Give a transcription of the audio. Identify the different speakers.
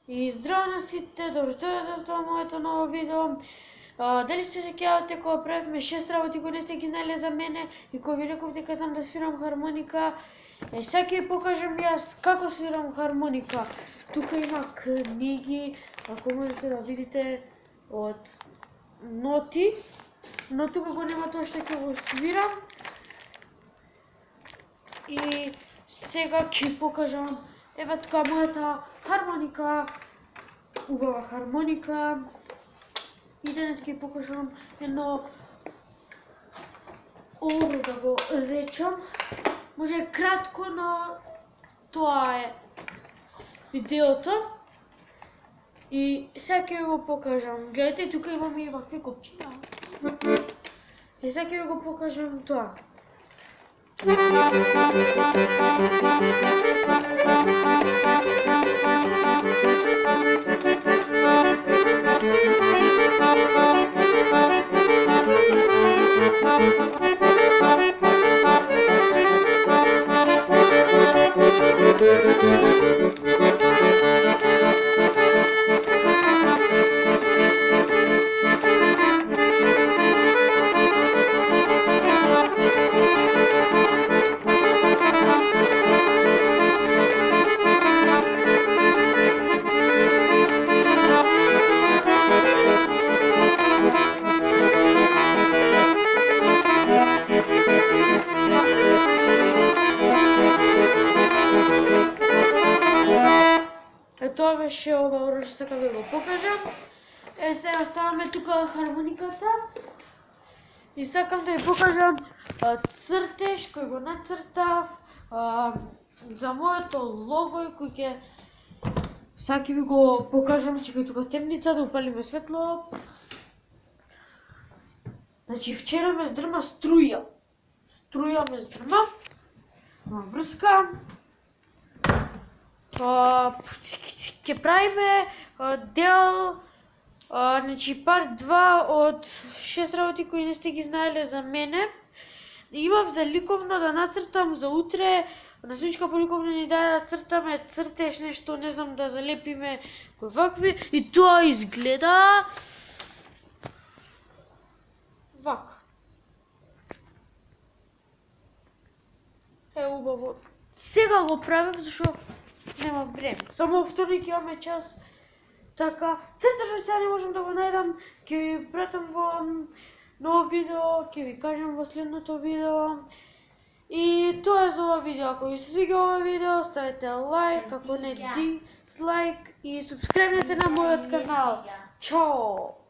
Speaker 1: И здраво на сите, добро дојдовте во моето ново видео. Дали се сеќавате кога правевме 6 работи кои не сте ги знаеле за мене и кои ви реков дека знам да свирам хармоника. Сега ќе ви покажам јас како свирам хармоника. Тука има книги, ако можете да видите, од ноти, но тука го нема тоа што ќе го свирам. И сега ќе покажам, еве тука мојата хармоника, убава хармоника. И денес ќе покажам едно оро да го речам. Може кратко, но тоа е видеото. И сега ќе го покажам. Гледате, тука имаме и вакви копчиња. И сега ќе го покажам тоа. Тоа беше ова оро што сакам да го покажам. Сега ставаме тука хармониката. И сакам да ви покажам цртеж кој го нацртав за моето лого и кој ќе сега ќе ви го покажам, чекај тука темница да упалиме светло. Значи вчера ме здрма струја. Струја ме здрма. Врска. Ќе правиме дел, значи парт 2 од 6 работи кои не сте ги знаеле за мене. Имав за ликовно да нацртам за утре, на Соничка по ликовно ни даде да цртаме цртеж нешто, не знам, да залепиме кои вакви, и тоа изгледа вака. Е убаво. Сега го правам зашто нема време. Само вторник имаме час. Така, цртежот сега не можам да го најдам, ќе ви пратам во ново видео, ќе ви кажам во следното видео. И тоа е за ова видео. Ако ви се свига ова видео, ставете лайк, ако не дизлайк и субскрайбнете на мојот канал. Чао!